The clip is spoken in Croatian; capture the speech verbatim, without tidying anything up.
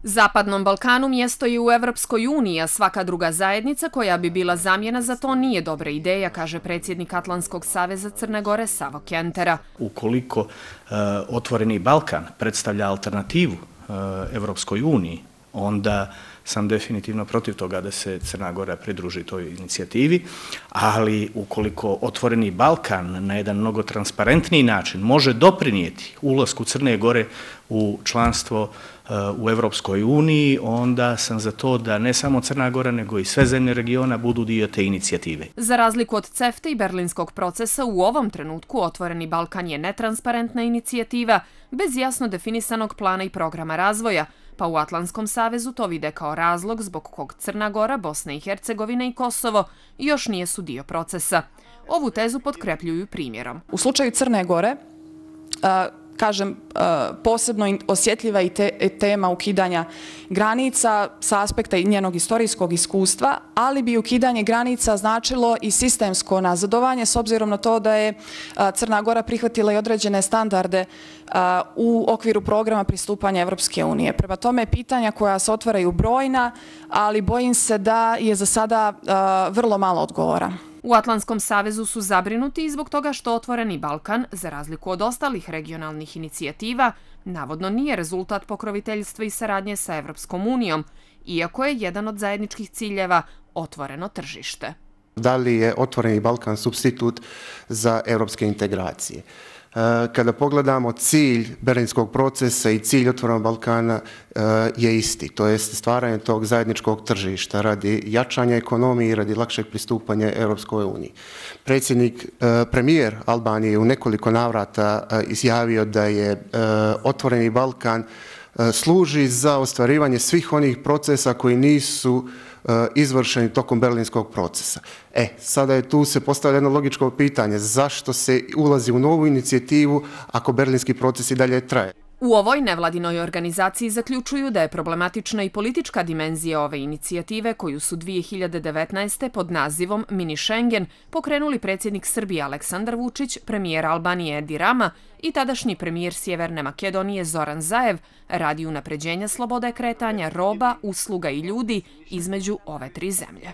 Zapadnom Balkanu mjesto je u Evropskoj uniji, a svaka druga zajednica koja bi bila zamjena za to nije dobra ideja, kaže predsjednik Atlantskog saveza Crne Gore Savo Kentera. Ukoliko uh, Otvoreni Balkan predstavlja alternativu uh, Evropskoj uniji, onda sam definitivno protiv toga da se Crna Gora pridruži toj inicijativi, ali ukoliko Otvoreni Balkan na jedan mnogo transparentniji način može doprinijeti ulasku Crne Gore u članstvo u Evropskoj uniji, onda sam za to da ne samo Crna Gora, nego i sve zemlje regiona budu dio te inicijative. Za razliku od CEFTA i berlinskog procesa, u ovom trenutku Otvoreni Balkan je netransparentna inicijativa bez jasno definisanog plana i programa razvoja, pa u Atlantskom savezu to vide kao razlog zbog kog Crna Gora, Bosna i Hercegovina i Kosovo još nijesu dio procesa. Ovu tezu potkrepljuju primjerom. U slučaju Crne Gore, kažem, posebno osjetljiva i tema ukidanja granica sa aspekta i njenog istorijskog iskustva, ali bi ukidanje granica značilo i sistemsko nazadovanje s obzirom na to da je Crna Gora prihvatila i određene standarde u okviru programa pristupanja Evropske unije. Prema tome, pitanja koja se otvaraju brojna, ali bojim se da je za sada vrlo malo odgovora. U Atlantskom savezu su zabrinuti i zbog toga što Otvoreni Balkan, za razliku od ostalih regionalnih inicijativa, navodno nije rezultat pokroviteljstva i saradnje sa Evropskom unijom, iako je jedan od zajedničkih ciljeva otvoreno tržište. Da li je Otvoreni Balkan supstitut za evropske integracije? Kada pogledamo cilj berlinskog procesa i cilj Otvorenog Balkana je isti, to je stvaranje tog zajedničkog tržišta radi jačanja ekonomije i radi lakšeg pristupanja Europskoj uniji. Predsjednik, premijer Albanije je u nekoliko navrata izjavio da je Otvoreni Balkan služi za ostvarivanje svih onih procesa koji nisu izvršeni tokom berlinskog procesa. E, sada je tu se postavlja jedno logičko pitanje, zašto se ulazi u novu inicijativu ako berlinski proces i dalje traje? U ovoj nevladinoj organizaciji zaključuju da je problematična i politička dimenzija ove inicijative koju su dvije hiljade devetnaeste. pod nazivom Mini Schengen pokrenuli predsjednik Srbije Aleksandar Vučić, premijer Albanije Edi Rama i tadašnji premijer Sjeverne Makedonije Zoran Zaev radi unapređenja slobode kretanja roba, usluga i ljudi između ove tri zemlje.